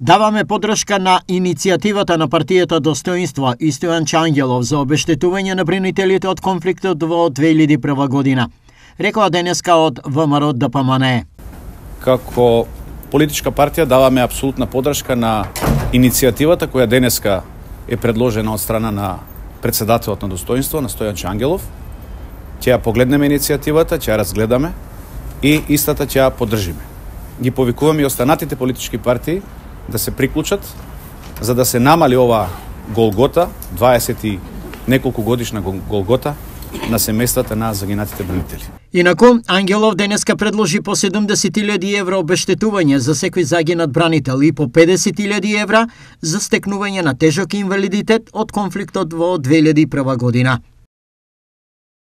Даваме поддршка на иницијативата на партијата Достоинство и Стојан Чангелов за обештетување на бринителите од конфликтот во 2001 година, рекоа денеска од ВМРО ДПМНЕ. Како политичка партија даваме апсолутна поддршка на иницијативата која денеска е предложена од страна на председателот на Достоинство, на Стојан Чангелов. Ќе ја погледнеме иницијативата, ќе ја разгледаме и истата ќе ја поддржиме. Ги повикуваме и останатите политички партии да се приклучат за да се намали ова голгота, 20 и неколку годишна голгота на семејствата на загинатите бранители. Инаку, Ангелов денеска предложи по 70.000 евра обештетување за секој загинат бранител и по 50.000 евра за стекнување на тежок инвалидитет од конфликтот во 2001 година.